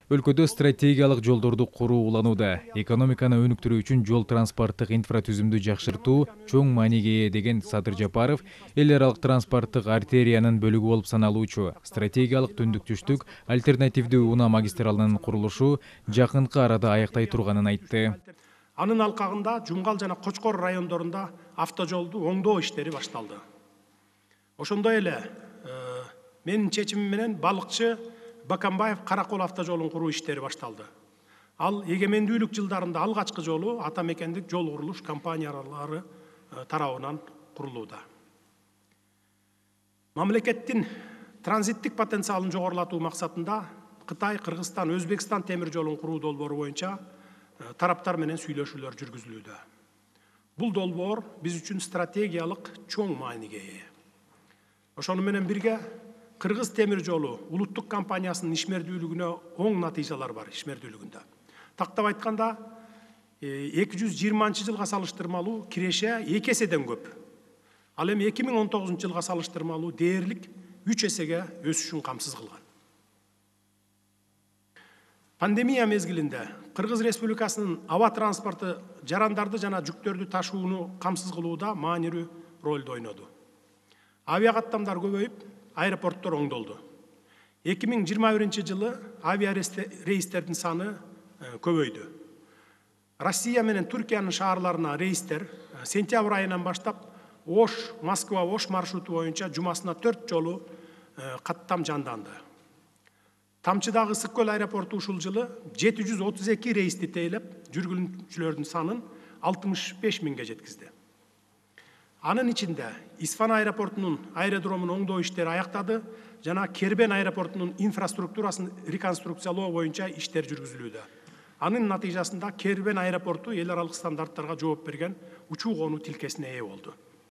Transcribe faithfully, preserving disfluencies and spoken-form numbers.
Өлкөдө стратегиялык жолдорду куруу уланууда. Экономиканы өнүктүрүү үчүн жол транспорттук инфратүзүмдү жакшыртуу чоң мааниге ээ деген Садыр Жапаров эл аралык транспорттук артериянын бөлүгү болуп саналуучу стратегиялык түндүк-түштүк альтернативдүү унаа магистралынын курулушу жакынкы арада аяктай турганын айтты. Анын алкагында Жумгал жана Кочкор райондорунда автожолду оңдоо иштери башталды. Ошондой эле менин чечимим менен балыкчы Бакамбаев Каракол автожолун куруу иштери башталды. Ал эгемендүүлүк жылдарында алгачкы жолу ата мекендик жол курулуш компаниялары тарабынан курулууда. Мамлекеттин транзиттик потенциалын жогорулатуу максатында Кытай, Кыргызстан, Өзбекстан темир жолун куруу долбоору боюнча тараптар менен сүйлөшүүлөр жүргүзүлүүдө. Бул долбоор биз үчүн стратегиялык чоң мааниге ээ. Ошону менен бирге Кыргыз темир жолу улуттук компаниясынын ишмердүүлүгүнө оң натыйжалар бар ишмердүүлүгүндө. Тактап айтканда эки жүз жыйырманчы жылга салыштырмалуу киреше эки эседен көп. Ал эми эки миң он тогузунчу жылга салыштырмалуу дээрлик үч эсеге өсүшүн камсыз кылган. Пандемия мезгилинде Кыргыз Республикасынын аба транспорту жарандарды жана жүктөрдү ташууну камсыз кылууда маанилүү ролду ойноду. Авиакаттамдар көбөйүп, аэропорттор оңдолду. эки миң жыйырма биринчи жылы авиарейстердин саны көбөйдү. Россия менен Түркиянын шаарларына рейстер сентябрь айынан баштап Ош, Москва, Ош маршруту боюнча жумасына төрт жолу каттам жанданды. Тамчыдагы Ысык көл аэропорту ушул жылы жети жүз отуз эки рейсти тейлеп, жүргүнчүлөрдүн санын алтымыш беш миңге жеткизди. Анын ичинде Исфан аэропортунун аэродромун оңдоо иштери аяктады жана Кербен аэропортунун инфраструктурасын реконструкциялоо боюнча иштер жүргүзүлүүдө. Анын натыйжасында Кербен аэропорту эл аралык стандарттарга жооп берген учуу конуу тилкесине ээ болду.